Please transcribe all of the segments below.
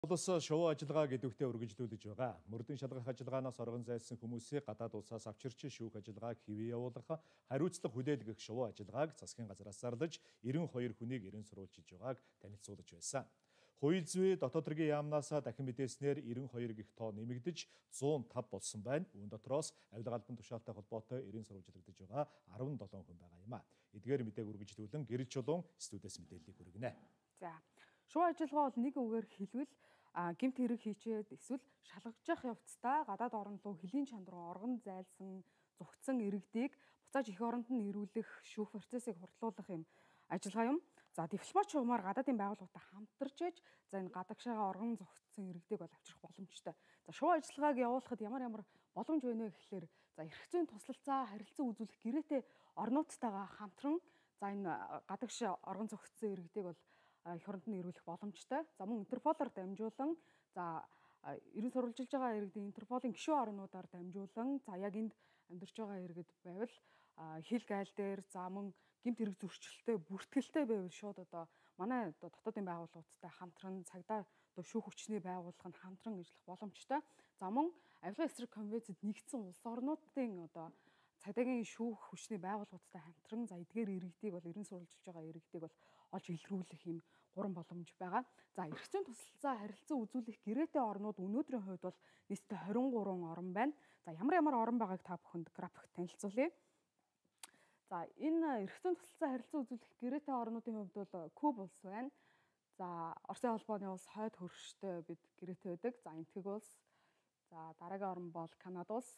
Улс шувуу ажиллагааг идэвхтэй үргэлжлүүлж байгаа. Мөрдөн шалгах ажиллагаанаас оргон зайлсан хүмүүсийг гадаад улсаас авчирч шүүх ажиллагааг хэвээ явуулах, хариуцлага хүлээлгэх шувуу ажиллагааг засгийн газраас зарлаж 92 хүнийг эрен сурвалжилж байгааг танилцуулж байсан. Хууль зүйн дотоод хэргийн яамнаас дахин мэдээснээр 92 гих тоо нэмэгдэж 105 болсон байна. Үүн дотроос авилга албан тушаалтай холбоотой эрен сурвалжлагдж байгаа 17 хүн байгаа юм а. Эдгээр мэдээг үргэлжлүүлэн Гэрэл Чулуун студиэс мэдээллийг хүргэнэ. За. Шувуу ажиллагаа бол нэг үгээр хэлбэл гэмт хэрэг хийчээд эсвэл шалгаж явцдаа гадаад орн руу хөлийн чанд руу оргон зайлсан зүгтсэн иргэдийг буцааж эх оронд нь ирүүлэх шүүх процессыг хурдлуулах юм ажиллагаа юм. За дипломат шугамар гадаадын байгууллагатай хамтарч ээж за энэ гадагшаага оргон зүгтсэн иргэдийг бол авчрах боломжтой. За шувуу ажиллагааг явуулахад ямар боломж байна вэ гэхээр за эрх зүйн туслалцаа харилцан үзүүлэх гэрээтэй орнуудтайгаа хамтран за энэ гадагш оргон зүгтсэн иргэдийг бол эх оронд нь ирүүлэх боломжтой. За мөн Интерполоор дамжуулан за эрен сурвалжилж байгаа иргэдийн Интерполын гишүүн орнуудаар дамжуулан за яг энд амьдарч байгаа иргэд байвал хил гайл дээр за мөн гэмт хэрэг зөрчилтэй бүртгэлтэй байвал шууд одоо манай дотоодын байгууллагуудтай хамтран цагдаа шүүх хүчний байгууллага нь хамтран ажиллах боломжтой. За мөн авилгын эсрэг конвенцэд нэгдсэн улс орнуудын одоо цагдаагийн шүүх хүчний байгууллагуудтай хамтран за эдгээр иргэдийг бол эрен сурвалжилж байгаа иргэдийг бол олж илрүүлэх юм 3 боломж байгаа. За эрх зүйн туслалцаа харилцан үзүүлэх гэрээтэй орнууд өнөөдрийн хувьд бол нийтдээ 23 орн байна. За ямар орн байгааг та бүхэнд графикт танилцуулъя. За энэ эрх зүйн туслалцаа харилцан үзүүлэх гэрээтэй орнуудын хувьд бол Куб улс байна. За Оросын холбооны улс хойд хөрштэй бид гэрээтэй байдаг. За Энэтхэг улс. За дараагийн орн бол Канада улс.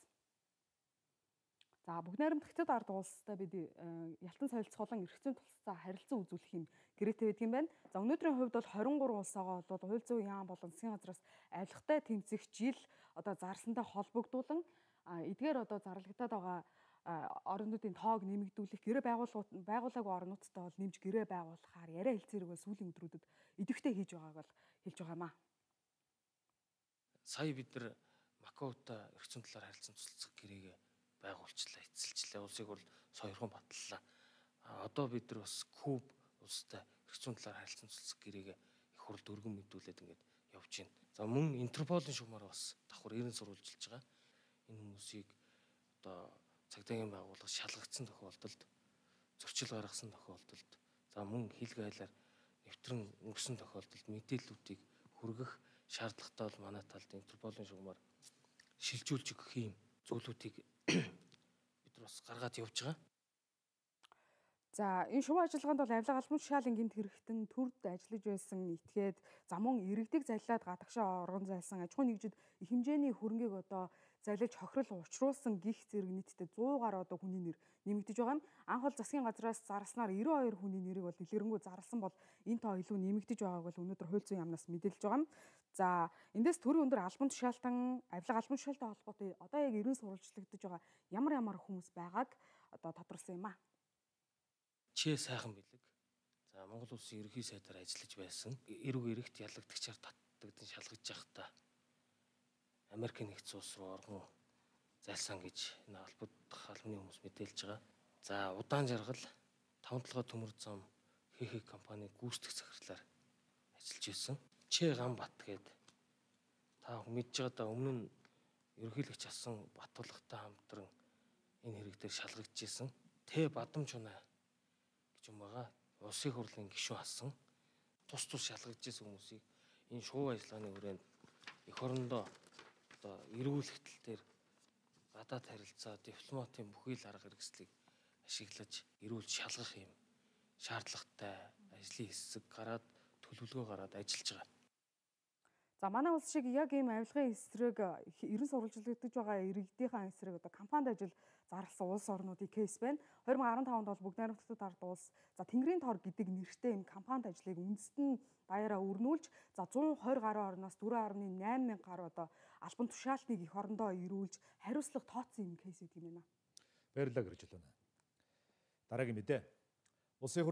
За бүгд найрамдагчдад ард улстай бид ялтан солилцоолон эрх зүйн туслалцаа харилцан үзүүлэх юм гэрээтэй байдаг юм байна. За өнөөдрийн хувьд бол 23 улсаагаа бол хууль зүйн яам болон засгийн газраас авилгатай тэмцэх жил одоо зарласантай холбогдуулан эдгээр одоо зарлагдаад байгаа орнуудын тоог нэмэгдүүлэх гэрээ байгуулаагүй орнуудтай бол нэмж гэрээ байгуулахаар яриа хэлцээрэг бол сүүлийн өдрүүдэд идэвхтэй хийж байгааг бол хэлж байгаа юм а. Сая бид нар Макаотой эрх зүйн талаар харилцан туслалцах гэрээгээ байгуулчлаа, эцэлчлээ. Улсыг бол соёрхон батллаа. Одоо бид нар бас Куб улстай эрх зүйн талаар харилцан туслалцах гэрээгээ их хурд өргөн мэдүүлээд ингээд явж байна. За мөн Интерполын шугамаар бас давхар эрен сурвалжилж байгаа. Энэ хүмүүсийг одоо цагдаагийн байгууллага шалгагдсан тохиолдолд, зөрчил гаргасан тохиолдолд, за мөн хил гайлаар нэвтрэн өнгөрсөн тохиолдолд мэдээллүүдийг хүргэх шаардлагатай бол манай талд Интерполын шугамаар шилжүүлж өгөх юм зүйлүүдийг бид бас гаргаад явж байгаа. За энэ шувуу ажиллагаанд бол авилга албан тушаалын гэмт хэрэгтэн төрд ажиллаж байсан этгээд за мөн иргэдийг залилаад гадагшаа оргон зайлсан аж ахуйн нэгжид их хэмжээний хөрөнгийг одоо залилж хохирол учруулсан гих зэрэг нийтдээ 100 гаруй одоо хүний нэр нэмэгдэж байгаа юм. Анх бол засгийн газраас зарласнаар 92 хүний нэрийг бол дэлгэрэнгүй зарласан бол энэ тоо илүү нэмэгдэж байгааг бол өнөөдөр хууль зүйн яамнаас мэдээлж байгаа юм. За эндээс төрийн өндөр албан тушаалтан авилга албан тушаалтай холбоотой одоо яг эрен сурвалжлагдаж байгаа ямар хүмүүс байгааг одоо тодорхойлсон юм а. Чээ сайхан бэлэг. За Монгол улсын ерөнхий сайдаар ажиллаж байсан. Эрг эрэгт ялагдагчаар татдагдан шалгаж явахдаа Америкийн нэгдсэн улс руу оргон зайлсан гэж энэ албадах албаны хүмүүс мэдээлж байгаа. За удаан жаргал 5 толгой төмөр зам хийх компани гүйцэтгэх захирлаар ажиллаж байсан. Чээ Ганбат гээд та мэдж байгаадаа өмнө нь ерөнхийлөгч асан Батулгатай хамтран энэ хэрэг дээр шалгагдж байсан. Тэ Бадамжунаа юм байгаа. Улсын хурлын гишүүн асан тус шалгагдж байсан хүмүүсийг энэ шувуу ажиллагааны хүрээнд эх орондоо одоо эргүүлэх тал дээр гадаад харилцаа, дипломатын бүхий л арга хэрэгслийг ашиглаж эрүүл шалгах юм шаардлагатай ажлын хэсэг гараад төлөвлөгөө гараад ажиллаж байгаа. За манай улс шиг яг ийм авилгын эсрэг эрен сурвалжлагдаж байгаа иргэдийн эсрэг одоо кампанид ажил зарласан улс орнуудын кейс байна. 2015 онд бол бүгд найрамдагчдад ард улс за Тэнгэрийн тор гэдэг нэртэй ийм кампанид ажлыг үндэстэн даяараа өрнүүлж за 120 гаруй орноос 4.8 мянган гаруй одоо албан тушаалтныг эх орондоо ирүүлж хариуцлага тооцсон юм кейс гэдэг юм байна. Баярлалаа Гэрэл Чулуун. Дараагийн мэдээ. Улсын